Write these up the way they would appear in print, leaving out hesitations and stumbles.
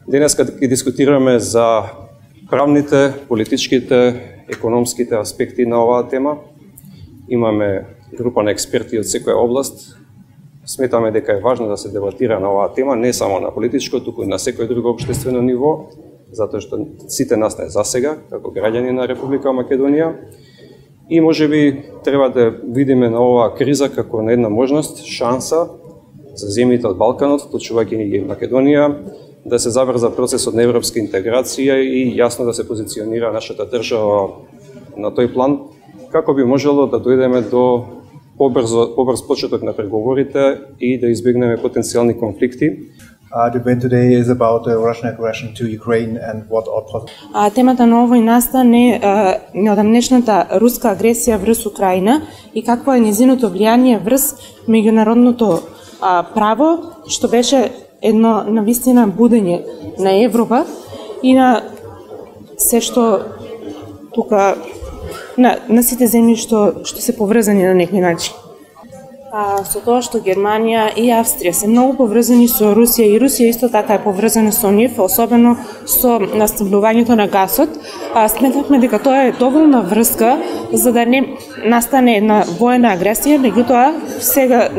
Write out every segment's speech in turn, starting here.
Денеска ќе дискутираме за правните, политичките, економските аспекти на оваа тема. Имаме група на експерти од секоја област. Сметаме дека е важно да се дебатира на оваа тема, не само на политичко, туку и на секој друго општествено ниво, затоа што сите нас не засега, како граѓани на Република Македонија. И можеби треба да видиме на оваа криза како на една можност, шанса за земјите од Балканот, вклучувајќи и Македонија, да се заврза процесот на европска интеграција и јасно да се позиционира нашата држава на тој план, како би можело да дојдеме до побрз почеток на преговорите и да избегнеме потенцијални конфликти. The debate today is about the Russian aggression to Ukraine and what are темата на овојната не неодамнешната руска агресија врз Украина и какво е незиното влијание врз меѓународното право, што беше едно навистина будење на Европа и на се што тука на сите земји што се поврзани на некој начин. Со тоа што Германија и Австрија се многу поврзани со Русија и Русија исто така е поврзана со нив, особено со наснабдувањето на гасот, сметавме дека тоа е доволна врска за да не настане една воена агресија, меѓутоа сега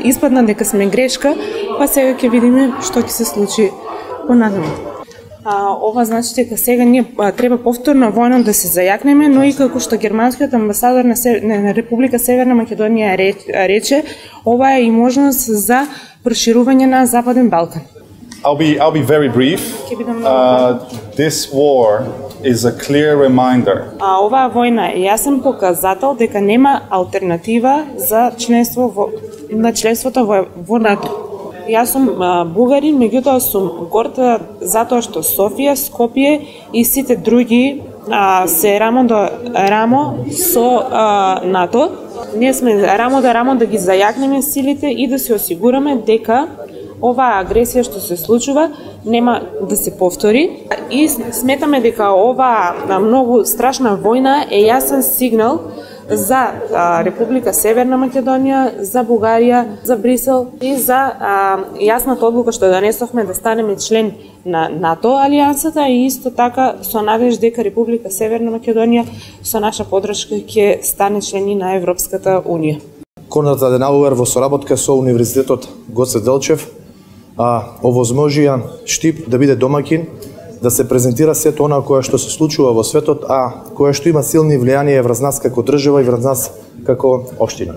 испадна дека сме грешка, па сега ќе видиме што ќе се случи понатаму. Ова значи дека сега ние треба повторно војно да се зајакнеме, но и како што германскиот амбасадор на Република Северна Македонија рече, ова е и можност за проширување на Западен Балкан. I'll be very brief. This war is a clear reminder. Оваа војна е јасен показател дека нема алтернатива за членството во НАТО. Јас сум бугарин, меѓутоа сум горда затоа што Софија, Скопје и сите други се рамо до рамо со НАТО. Ние сме рамо до рамо да ги зајакнеме силите и да се осигураме дека оваа агресија што се случува нема да се повтори. И сметаме дека оваа многу страшна војна е јасен сигнал за Република Северна Македонија, за Бугарија, за Брисел и за јасната одлука што донесовме да станеме член на НАТО алијансата и исто така со надеж дека Република Северна Македонија со наша поддршка ќе стане член на Европската Унија. Конрад Аденауер во соработка со Универзитетот Гоце Делчев овозможија Штип да биде домакин, да се презентира сето она кое што се случува во светот, кое што има силни влијанија врз нас како држава и врз нас како општина.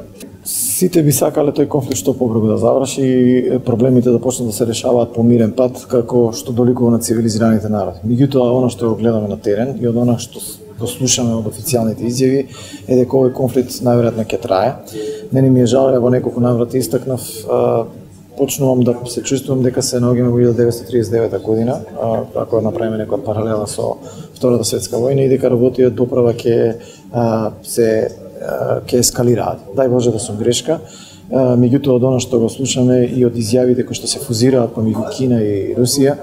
Сите би сакале тој конфликт што побрзо да заврши и проблемите да почнат да се решаваат по мирен пат, како што доликува на цивилизираните народи. Меѓутоа, она што го гледаме на терен и од она што го слушаме од официјалните изјави е дека овој конфликт најверојатно ќе трае. Мене ми е жал, во неколку наврати истакнав, почнувам да се чувствувам дека се наоѓаме во 1939 година, ако направиме некоја паралела со Втората светска војна и дека работиот доправа ќе ескалираат. Дај Боже да сум грешка. Меѓутоа од она што го слушаме и од изјавите кои што се фузираат помеѓу Кина и Русија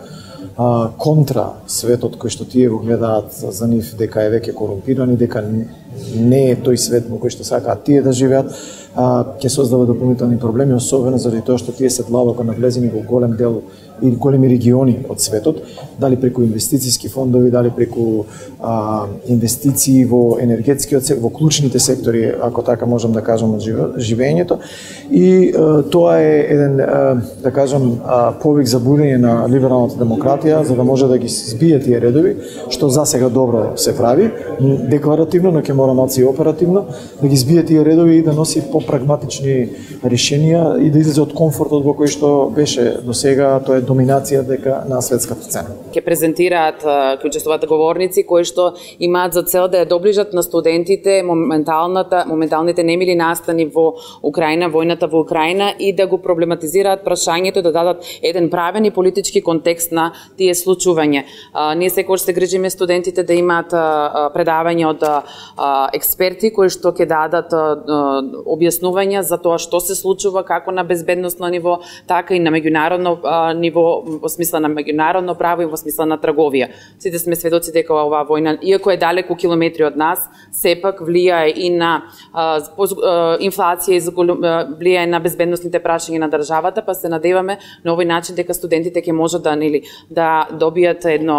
контра светот кој што тие го гледаат за нив дека е веќе корумпиран и дека не е тој свет во кој што сакаат тие да живеат, ќе создава дополнителни проблеми, особено заради тоа што тие се длабоко навлезени во голем дел и големи региони од светот, дали преку инвестициски фондови, дали преку инвестиции во енергетскиот сектор, во клучните сектори, ако така можам да кажам, од живењето. И тоа е еден, да кажам, повик за будење на либералната демократија, за да може да ги збие тие редови, што за сега добро се прави, декларативно, но ќе мора малку и оперативно, да ги збие тие редови и да носи попрагматични решенија и да излезе од комфортот во кој што беше до сега, тоа е доминација дека на светската сцена. Ќе презентираат учествуват говорници кои што имаат за цел да ја доближат на студентите моменталните немили настани во Украина, војната во Украина и да го проблематизираат прашањето, да дадат еден правен и политички контекст на тие случувања. Ние секогаш се грижиме студентите да имаат предавања од експерти кои што ќе дадат објаснувања за тоа што се случува како на безбедносно ниво, така и на меѓународно ниво во смисла на меѓународно право и во смисла на трговија. Сите сме сведоци дека оваа војна, иако е далеку километри од нас, сепак влијае и на инфлација и влијае на безбедносните прашања на државата, па се надеваме на овој начин дека студентите ќе можат да добијат едно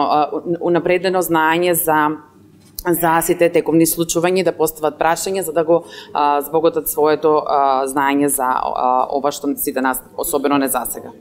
унапредено знаење за сите тековни случувања, да постават прашања за да го збогатат своето знаење за ова што сите нас особено не засега.